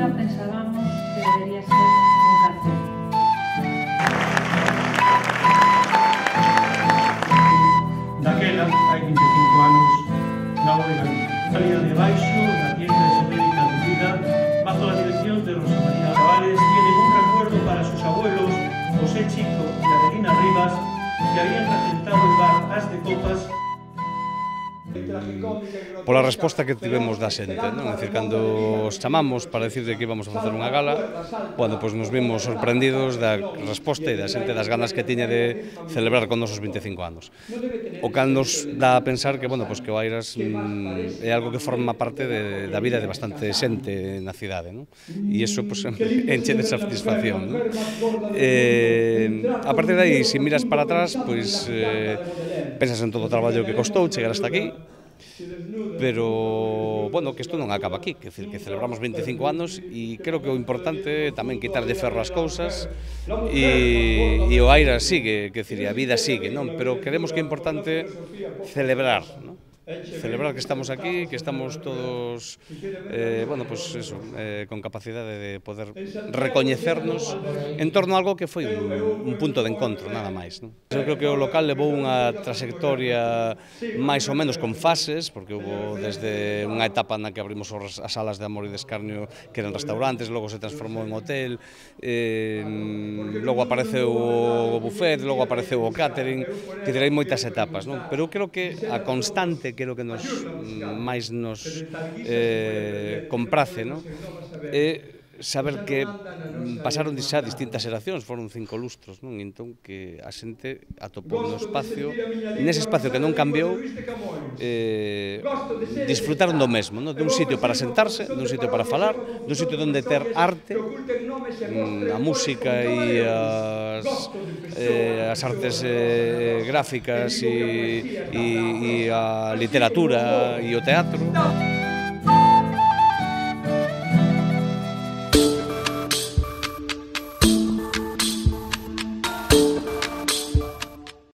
nunca pensábamos que debería ser un café. Daquela, hai 25 anos, na bodega salía de baixo da tienda esotérica Dudida, bajo la dirección de Rosa María Cabales, tiene un recuerdo para sus abuelos José Chico y Adelina Rivas, que habían regentado el bar As de Copas. Pola resposta que tivemos da xente, non? É dicir, cando os chamamos para decirle que íbamos a facer unha gala, bueno, pois nos vimos sorprendidos da resposta e da xente, das ganas que tiña de celebrar con nosos 25 anos. O cal nos dá a pensar que, bueno, pois que o Airas é algo que forma parte da vida de bastante xente na cidade, non? E iso, pois, enche de satisfacción, non? A partir de aí, se miras para atrás, pois, pensas en todo o traballo que costou chegar hasta aquí, pero, bueno, que isto non acaba aquí, que celebramos 25 anos e creo que o importante é tamén quitarlle ferro ás cousas e o Airas sigue, que a vida sigue, non? Pero queremos que é importante celebrar, non? Celebrar que estamos aquí, que estamos todos, bueno, pues eso, con capacidade de poder recoñecernos en torno a algo que foi un punto de encontro, nada máis, non? Eu creo que o local levou unha trayectoria máis ou menos con fases, porque houve desde unha etapa na que abrimos as salas de Amor e de Escarnio, que eran restaurantes, logo se transformou en hotel, logo apareceu o buffet, logo apareceu o catering, que hai moitas etapas, non? Pero eu creo que a constante, que é o que máis nos comprace, non? É saber que pasaron xa distintas xeracións, foron 5 lustros, non? Entón que a xente atopou no espacio, nese espacio que non cambiou, disfrutaron do mesmo, non? Dun sitio para sentarse, dun sitio para falar, dun sitio onde ter arte, a música e as artes gráficas e a literatura e o teatro.